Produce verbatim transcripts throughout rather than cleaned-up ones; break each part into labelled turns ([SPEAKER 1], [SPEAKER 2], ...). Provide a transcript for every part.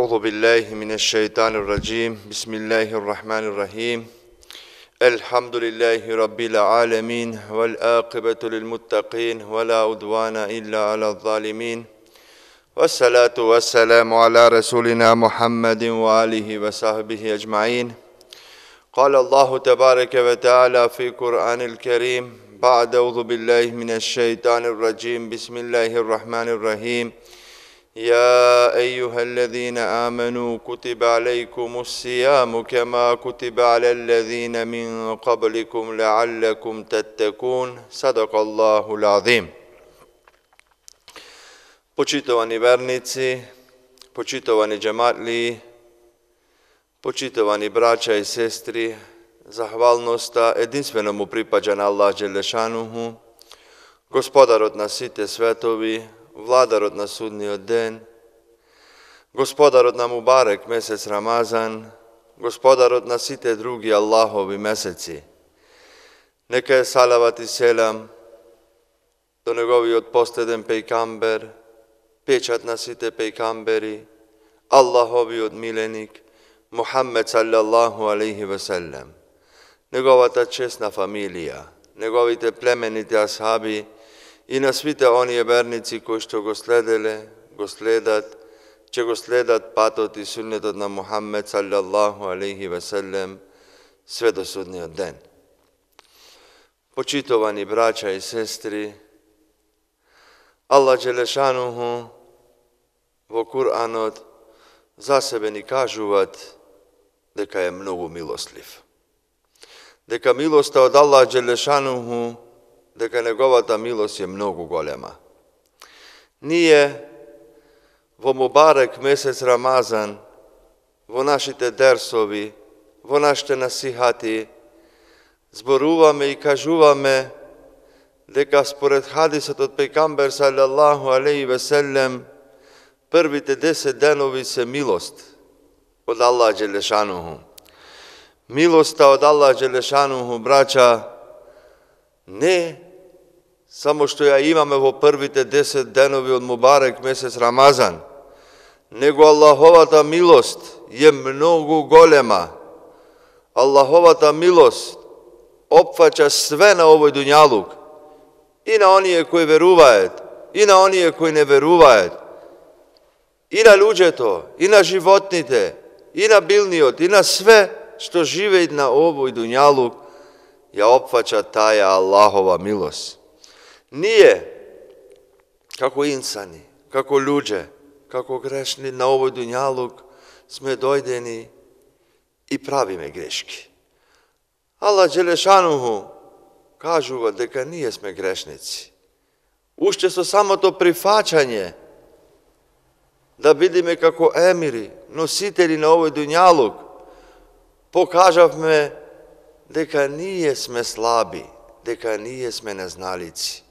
[SPEAKER 1] أعوذ بالله من الشيطان الرجيم بسم الله الرحمن الرحيم الحمد لله رب العالمين والعاقبة للمتقين ولا عدوان إلا على الظالمين والصلاة والسلام على رسولنا محمد وآله وصحبه أجمعين قال الله تبارك وتعالى في القرآن الكريم بعد أعوذ بالله من الشيطان الرجيم بسم الله الرحمن الرحيم يا أيها الذين آمنوا كتب عليكم الصيام كما كتب على الذين من قبلكم لعلكم تتقون صدق الله العظيم. Почитувани верници, почитувани джематли, почитувани браќа и сестри, захвалноста единствено му припаѓа на Аллах Джелешануху, Господарот на сите светови, Владарот на судниот ден, Господарот на Мубарек месец Рамазан, Господарот на сите други Аллахови месеци. Нека е салават и селам до неговиот последен пејкамбер, печат на сите пејкамбери, Аллаховиот миленик, Мухаммед саллаллаху алейхи ве селем, неговата честна фамилија, неговите племените асхаби и на свите оние верници кои што го следеле, го следат, че го следат патот и суннетот на Мухаммед саллаллаху алейхи ве селем све до судниот ден. Почитувани браќа и сестри, Аллах Джелешануху во Куранот за себе ни кажуваат дека е многу милослив. Дека милоста од Аллах Джелешануху, дека неговата милост е многу голема. Ние во Мубарек месец Рамазан, во нашите дерсови, во нашите насихати, зборуваме и кажуваме дека според хадисот од пејкамбер саллаллаху алейхи ве селем, првите десет денови се милост од Аллах Джелешануху. Милоста од Аллах Джелешануху, браќа, не само што ја имаме во првите десет денови од Мубарек месец Рамазан, него Аллаховата милост е многу голема. Аллаховата милост опфаќа све на овој дуњалук, и на оние кои веруваат, и на оние кои не веруваат, и на луѓето, и на животните, и на билниот, и на све што живеат на овој дуњалук, ја опфаќа таја Аллахова милост. Ние, како инсани, како луѓе, како грешни на овој дуњалук, сме дојдени и правиме грешки. Аллах Джелешануху кажува дека ние сме грешници. Уште со самото прифаќање да бидеме како емири, носители на овој дуњалук, покажавме дека ние сме слаби, дека ние сме незналици.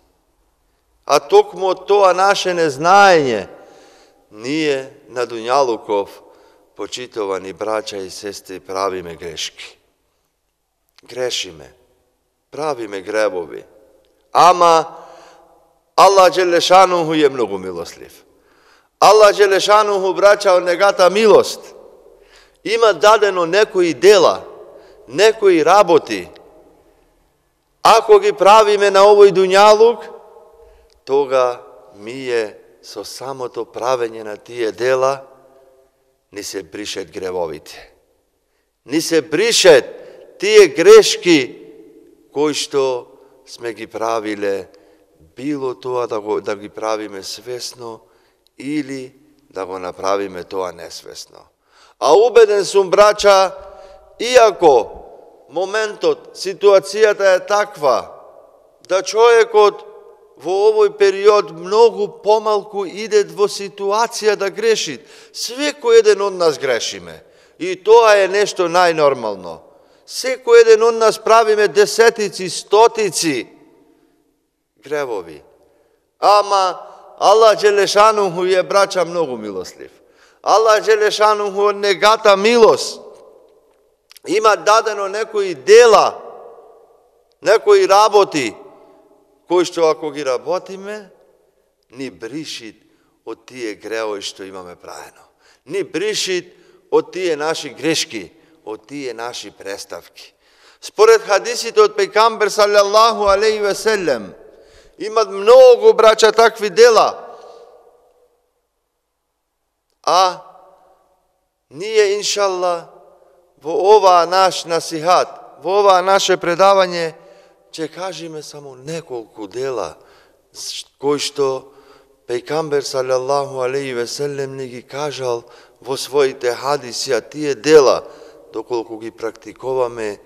[SPEAKER 1] А токму од тоа наше незнаење, ние на дуњалуков, почитувани браќа и сестри, правиме грешки. Грешиме, правиме гребови. Ама Аллах Джелешануху е многу милослив. Аллах Джелешануху, браќа, од негата милост има дадено некои дела, некои работи. Ако ги правиме на овој дуњалук, тога мие со самото правење на тие дела ни се бришет гревовите. Ни се бришет тие грешки кои што сме ги правиле, било тоа да, го, да ги правиме свесно или да го направиме тоа несвесно. А убеден сум, браќа, иако моментот, ситуацијата е таква, да човекот во овој период многу помалку иде во ситуација да греши. Секој еден од нас грешиме. И тоа е нешто најнормално. Секој еден од нас правиме десетици, стотици гревови. Ама Аллах Джелешануху е, браќа, многу милослив. Аллах Джелешануху од негата милост има дадено некои дела, некои работи, кои што ако ги работиме, ни бришит од тие греови што имаме правено. ни бришит од тие наши грешки, од тие наши преставки. Според хадисите од пејгамбер салаллаху алейхи ве селем, имат многу, браќа, такви дела, а ние, иншалла, во ова наш насихат, во ова наше предавање, ќе кажеме само неколку дела, кои што пејгамбер салаллаху алейхи ве селем не ги кажал во своите хадиси, а тие дела, доколку ги практикуваме,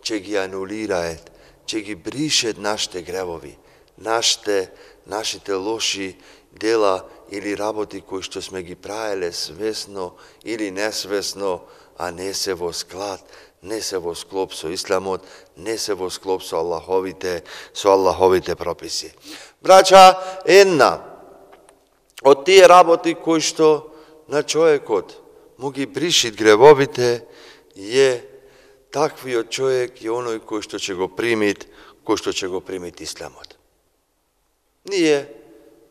[SPEAKER 1] ќе ги анулираат, ќе ги бришат нашите гревови, нашите, нашите лоши дела или работи кои што сме ги правеле свесно или несвесно, а не се во склад, не се во склоп со исламот, не се во склоп со Аллаховите, со Аллаховите прописи. Браќа, една од тие работи кои што на човекот му ги бришит гревовите е таквиот човек и оној кој што ќе го примит, кој што ќе го примит исламот. Ние,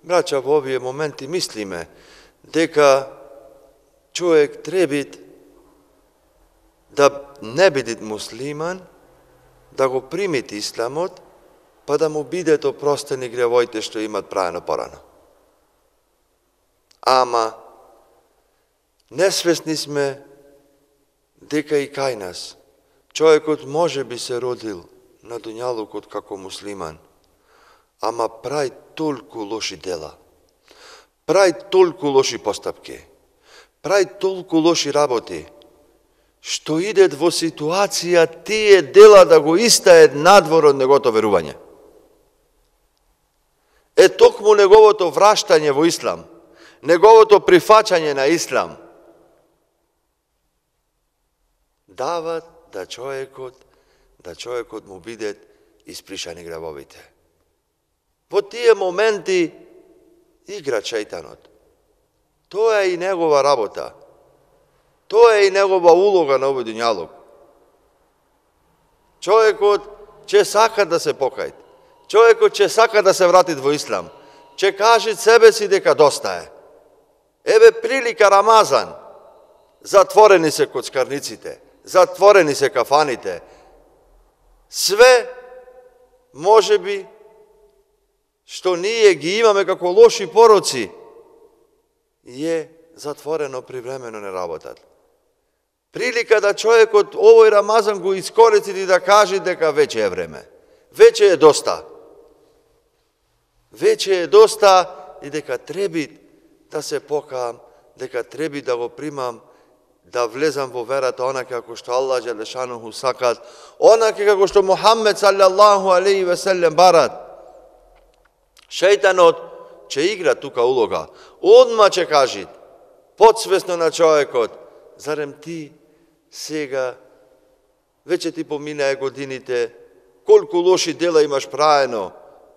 [SPEAKER 1] браќа, во овие моменти мислиме дека човек требит да не бидит муслиман, да го примит исламот, па да му бидат опростени гревоите што имат правено порано. Ама, несвесни сме дека и кај нас човекот може би се родил на дуњалукот како муслиман, ама прави толку лоши дела, прави толку лоши постапки, прави толку лоши работи, што идет во ситуација тие дела да го истаат надвор од негото верување. Е токму неговото враштање во ислам, неговото прифаќање на ислам, дават да човекот, да човекот му бидат испришани гревовите. Во тие моменти игра шејтанот. Тоа е и негова работа. Тоа е и негова улога на овој дуњалук. Човекот ќе сака да се покајат. Човекот ќе сака да се вратит во ислам. Ќе каже себе си дека доста е. Еве прилика Рамазан. Затворени се коцкарниците, затворени се кафаните. Све, може би, што ние ги имаме како лоши пороци, е затворено привремено не работат. Прилика да човекот овој Рамазан го искористи и да каже дека веќе е време. Веќе е доста. Веќе е доста и дека треби да се покаам, дека треби да го примам, да влезам во верата онака како што Аллах Джелешануху сакат, онака како што Мухаммед салаллаху алейхи ве селем барат. Шејтанот ќе игра тука улога. Одма ќе кажи, подсвесно на човекот, зарем ти сега, веќе ти поминае годините, колку лоши дела имаш правено,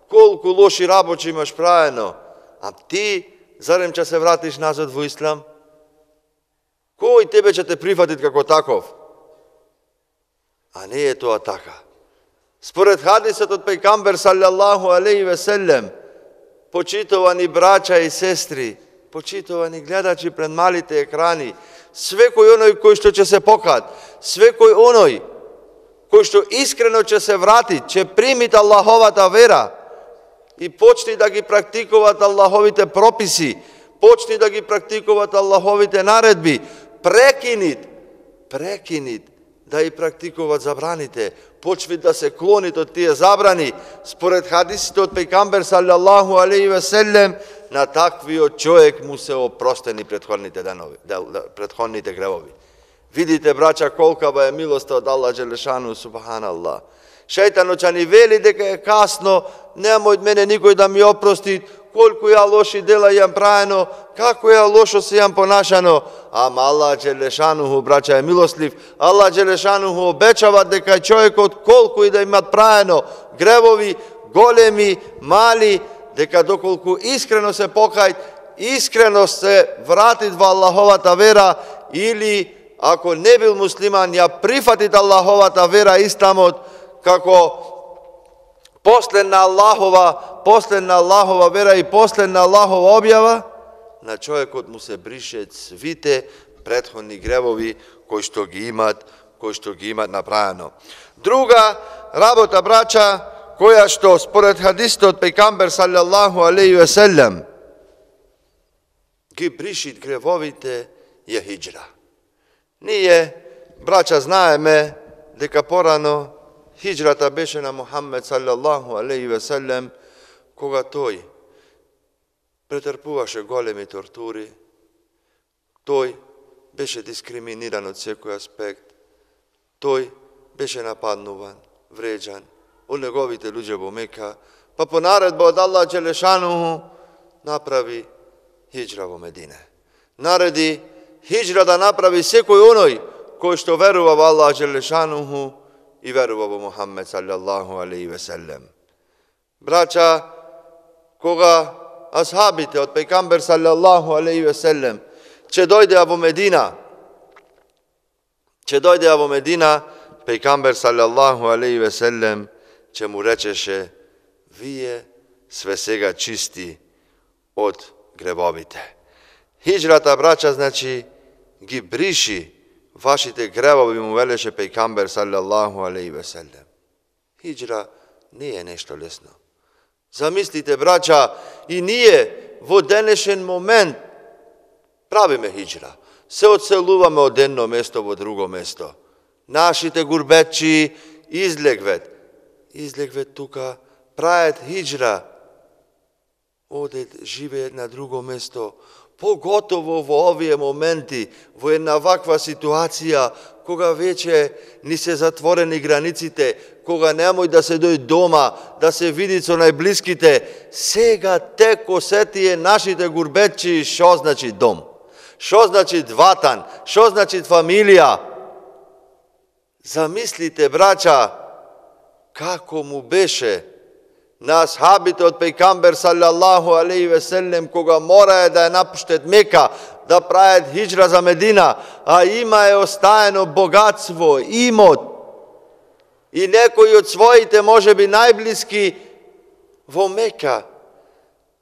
[SPEAKER 1] колку лоши работи имаш правено, а ти, зарем ќе се вратиш назад во ислам? Кој тебе ќе те прифатит како таков? А не е тоа така. Според хадисот од пејгамбер салаллаху алейхи ве селем, почитувани браќа и сестри, почитувани гледачи пред малите екрани, свекој оној кој што ќе се покат, свекој оној кој што искрено ќе се врати, ќе примит Аллаховата вера и почни да ги практикуваат Аллаховите прописи, почни да ги практикуваат Аллаховите наредби, прекинит, прекинит да и практикуваат забраните, почви да се клонит од тие забрани, според хадисите од пејгамбер салаллаху алейхи ве селем, на таквиот човек му се опростени претходните денови, претходните гревови. Видите, браќа, колкава е милоста од Аллах Джелешану, субханаллах. Шејтанот ќе ни вели дека е касно, нема од мене никој да ми опрости, колку ја лоши дела јам правено, како ја лошо се јам понашано, ама Аллах Джелешануху, браќа, е милослив. Аллах Джелешануху обечава дека човекот колку и да имат правено гревови, големи, мали, дека доколку искрено се покајат, искрено се вратит во Аллаховата вера, или ако не бил муслиман, ја прифатит Аллаховата вера, исламот, како последна Аллахова, последна Аллахова вера и последна Аллахова објава, на човекот му се бришет свите претходни гревови кои што ги имат, кои што ги имат направено. Друга работа, брача, која што според хадисот пејгамбер салаллаху алейхи ве селем ги бришит гревовите е хиџра. Ние, брача, знаеме дека порано хиџрата беше на Мухаммед салаллаху алейхи ве селем, кога тој претрпуваше големи тортури, тој беше дискриминиран од секој аспект, тој беше нападнуван, вреđан од неговите луѓе во Мека, па по наредба од Аллах Джелешануху направи хиџра во Медине. Нареди хиџра да направи секој оној кој што верува во Аллах Джелешануху и верува во Мухаммед салаллаху алейхи ве селем. Брача, кога асхабите од пејгамбер салаллаху алейхи ве селем че дојдеа во Медина, че дојдеа во Медина, пејгамбер салаллаху алейхи ве селем че му речеше: вие све сега чисти од гревовите. Хиџрата, брача, значи ги бриши вашите гревови, му велеше пејгамбер салаллаху алейхи ве селем. Хиџра не е нешто лесно. Замислите, брача, и ние во денешен момент правиме хиџра. Се одселуваме од едно место во друго место. Нашите гурбетчи излегвет. Излегвет тука, правят хиџра. Одет, живеет на друго место. Поготово во овие моменти, во една ваква ситуација, кога веќе ни се затворени границите, кога немој да се дојде дома, да се види со најблиските, сега тек осетие нашите гурбетчи шо значи дом, шо значи ватан, шо значи фамилија. Замислите, брача, како му беше на асхабите од пејгамбер салаллаху алейхи ве селем, кога морае да ја напуштет Мека, да прават хиџра за Медина, а има е остаено богатство, имот, и некои од своите, може би најблиски, во Мека.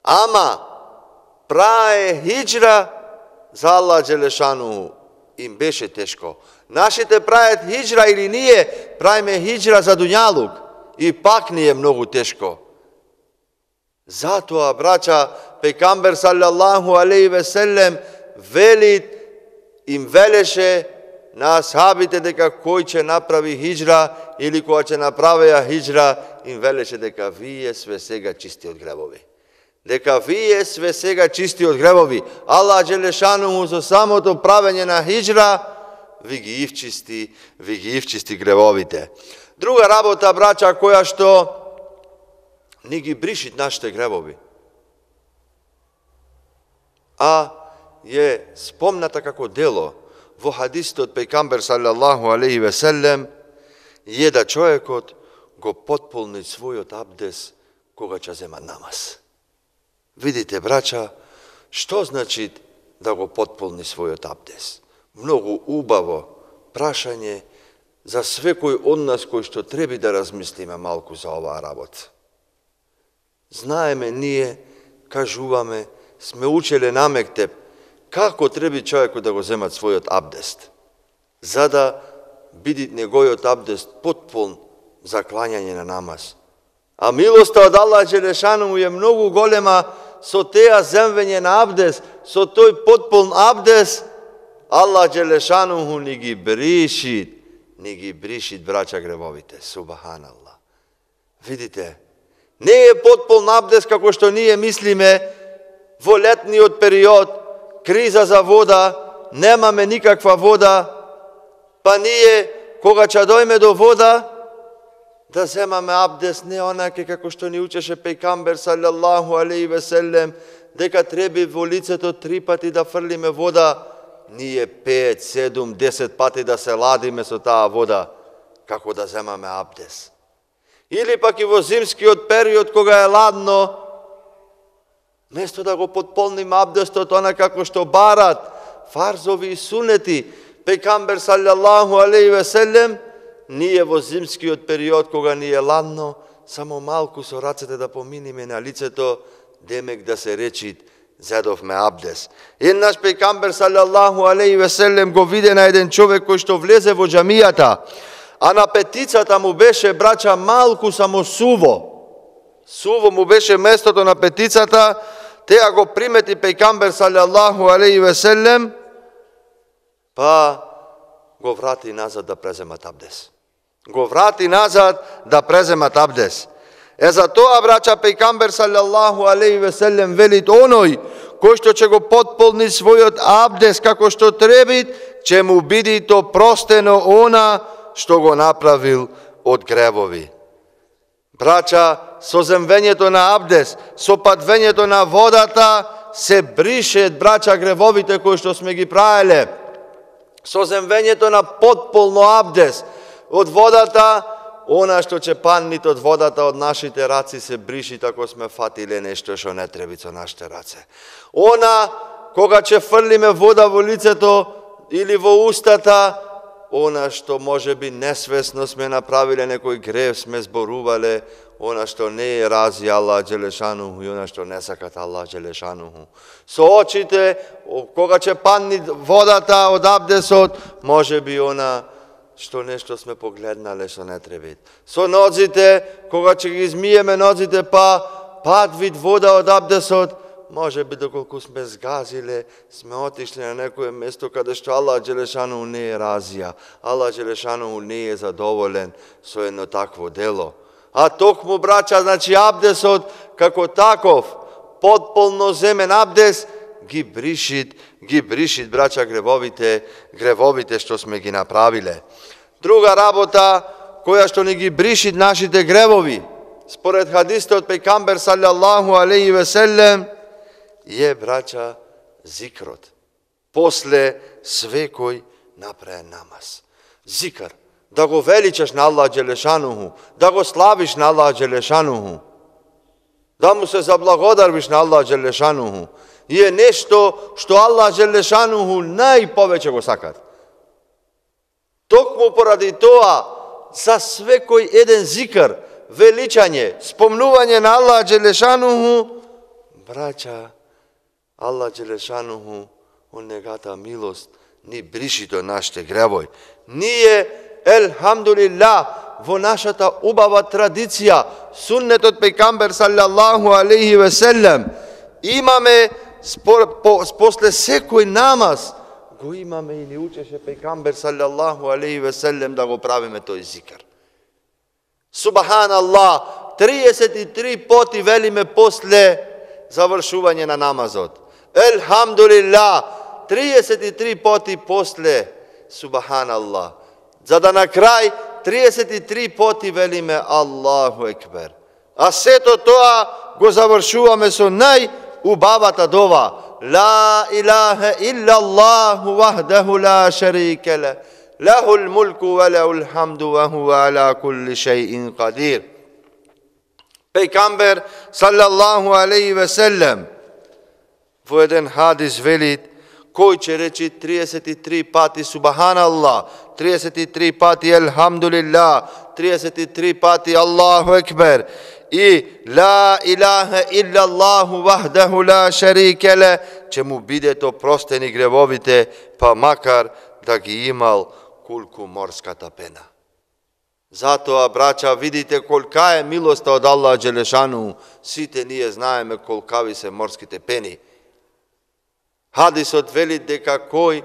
[SPEAKER 1] Ама прае хиџра за Аллах Джелешану. Им беше тешко. Нашите прават хиџра или ние правиме хиџра за дуњалук, и пак ни е многу тешко. Затоа, брача, пејгамбер салаллаху алейхи ве селем вели, им велеше на асхабите дека кој ќе направи хиџра или кога ќе направеа хиџра, им велеше дека вие све сега чисти од гревови. Дека вие све сега чисти од гревови. Аллах Джелешануху со самото правење на хиџра ви ги ивчисти, ви ги ивчисти гревовите. Друга работа, брача, која што ни ги бришит нашите гревови, а е спомната како дело во хадисот пејгамбер салаллаху алейхи ве селем, е да човекот го потполни својот абдес кога ќе зема намаз. Видите, брача, што значи да го потполни својот абдес? Многу убаво прашање за свекој од нас кој што треба да размислиме малку за оваа работа. Знаеме ние, кажуваме, сме учеле на мектеп, како треба човекот да го земат својот абдест, за да биде неговиот абдест потполн за клањање на намаз. А милоста од Аллах Джелешану е многу голема со теа земвење на абдест, со тој потполн абдест, Аллах Джелешану ни ги бришит, ни ги бришит, брача, гревовите. Субханаллах. Видите, не е потполн абдест како што ние мислиме во летниот период, криза за вода, немаме никаква вода, па ние, кога ќе дојме до вода, да земаме абдест не онаке како што ни учеше пејгамбер салаллаху алейхи ве селем, дека треба во лицето три пати да фрлиме вода, ние пет, седум, десет пати да се ладиме со таа вода, како да земаме абдест. Или пак и во зимскиот период, кога е ладно, место да го потполниме абдестот, она како што барат фарзови и сунети, пејгамбер салаллаху алейхи ве селем, ние во зимскиот период, кога ни е ладно, само малку со рацете да поминиме на лицето, демек да се речит, зедовме абдес. Еднаш пејгамбер салаллаху алейхи ве селем го виде на еден човек кој што влезе во џамијата, а на петицата му беше, брача, малку само суво. Суво му беше местото на петицата, теа го примети пејгамбер салаллаху алейхи ве селем, па го врати назад да преземат абдес. Го врати назад да преземат абдес. Е за тоа, брача, пејгамбер салаллаху алейхи ве селем велит оној кој што ќе го потполни својот абдес како што треби, ќе му биде то простено она што го направил од гревови. Брача, со земвењето на абдес, со падвењето на водата се бришет, брача, гревовите кои што сме ги правеле. Со земвењето на потполно абдес од водата, она што ќе паннит од водата од нашите раци се бриши ако сме фатиле нешто што не треби со нашите раце. Она кога ќе фрлиме вода во лицето или во устата, она што може би несвесно сме направиле некој грев, сме зборувале, она што не е рази Аллах Джелешануху и она што не сакат Аллах Джелешануху. Со очите, кога ќе панни водата од абдесот, може би она што нешто сме погледнале што не треби. Со ноците, кога ќе ги измиеме ноците, па пад вид вода од абдесот, може би доколку сме сгазиле, сме отишли на некое место каде што Аллах Джелешануху не е разија. Аллах Джелешануху не е задоволен со едно такво дело. А токму, брача, значи абдесот како таков, потполно земен абдес, ги бришит, ги бришит, брача, гревовите, гревовите што сме ги направиле. Друга работа, која што ни ги бришит нашите гревови, според хадисот пејгамбер салаллаху алейхи ве селем, е, брача, зикрот. После свекој направен намаз. Зикр. Да го величаш на Аллах Джелешануху, да го славиш на Аллах Джелешануху, да му се заблагодарвиш на Аллах Джелешануху. И е нешто што Аллах Джелешануху најповеќе го сакат. Токму поради тоа, за свекој еден зикр, величање, спомнување на Аллах Джелешануху, брача, Аллах Джелешануху, он негата милост, ни бриши до нашите гревој. Ние, елхамдулилlah, во нашата убава традиција, суннетот пејгамбер салаллаху алейхи ве селем, имаме спор, по, после секој намаз, го имаме и ни учеше пејгамбер салаллаху алейхи ве селем да го правиме тој зикр. Субханаллах, триесет и три поти велиме после завршување на намазот. Елхамдулилlah, триесет и три поти после Субханаллах. За да на крај триесет и три поти велиме Аллаху екбер. А сето тоа го завршуваме со најубавата дова. Ла илаха иллаллаху вахдаху ла шарике ле. Лахул мулку ва лахул хамду ва хуа ала кулли шејин кадир. Пејгамбер салаллаху алейхи ве селем во еден хадис велит, кој ќе речи триесет и три пати Субханаллах, триесет и три пати Елхамдулилlah, триесет и три пати Аллаху екбер и ла илаха иллаллаху вахдаху ла шарике ле, ќе му бидето простени гревовите, па макар да ги имал колку морската пена. Затоа, брача, видите колка е милоста од Аллах Джелешану. Сите ние знаеме колкави се морските пени. Хадисот вели дека кој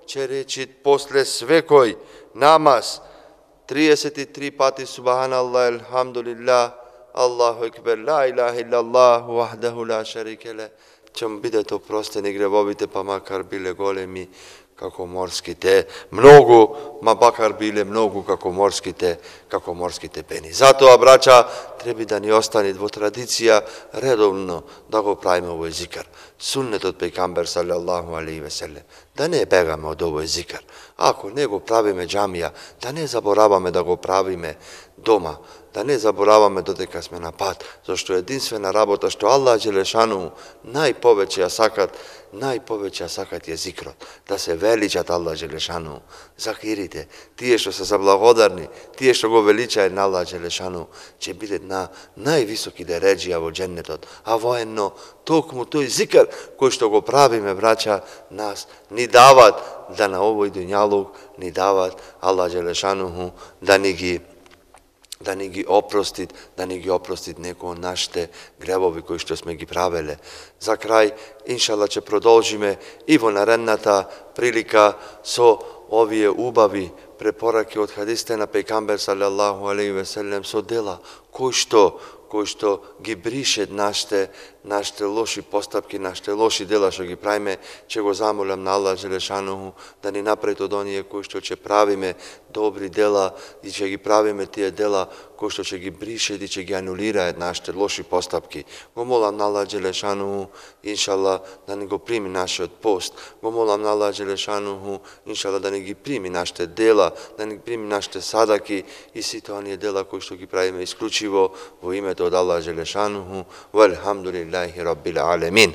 [SPEAKER 1] ќе речи после свекој намаз триесет и три пати Субханаллах, Елхамдулилlah, Аллаху екбер, ла илаха иллаллах, вахдаху ла шарике ле, ќе му бидат опростени гревовите, па макар биле големи како морските, многу, ма бакар биле многу како морските, како морските пени. Затоа, брача, треба да ни остане во традиција редовно да го правиме овој зикр. Суннетот пејгамбер салаллаху алейхи ве селем. Да не бегаме од овој зикр. Ако не го правиме џамија, да не забораваме да го правиме, дома, да не забораваме додека сме на пат, зашто единствена работа што Аллах Джелешану најповеќе ја сакат, најповеќе ја сакат е зикрот, да се величат Аллах Джелешану, закирите, тие што се заблагодарни, тие што го величаат на Аллах Джелешану, ќе бидат на највисоки дереџија во џеннетот, а военно токму тој зикр кој што го правиме, браќа, нас ни дават да на овој дуњалук ни дават Аллах Джелешану да ни ги да ни ги опростит, да ни ги опростит некои од нашите гревови кои што сме ги правеле. За крај, иншалла, ќе продолжиме и во наредната прилика со овие убави препораки од хадисите на пејгамбер салаллаху алейхи ве селем со дела кои што кои што ги бришет нашите нашите лоши постапки, нашите лоши дела што ги правиме, ќе го замолам на Аллах Джелешану да ни направи од оние кои што ќе правиме добри дела и ќе ги правиме тие дела кои што ќе ги бришет и ќе ги анулираат нашите лоши постапки. Го молам на Аллах Джелешану, иншалла, да ни го прими нашиот пост. Го молам на Аллах Джелешану, иншалла, да ни ги прими нашите дела, да ни прими нашите садаки и сите оние дела кои што ги правиме исклучиво во името од Аллах Джелешану. Валхамдулиллахи раббил алемин.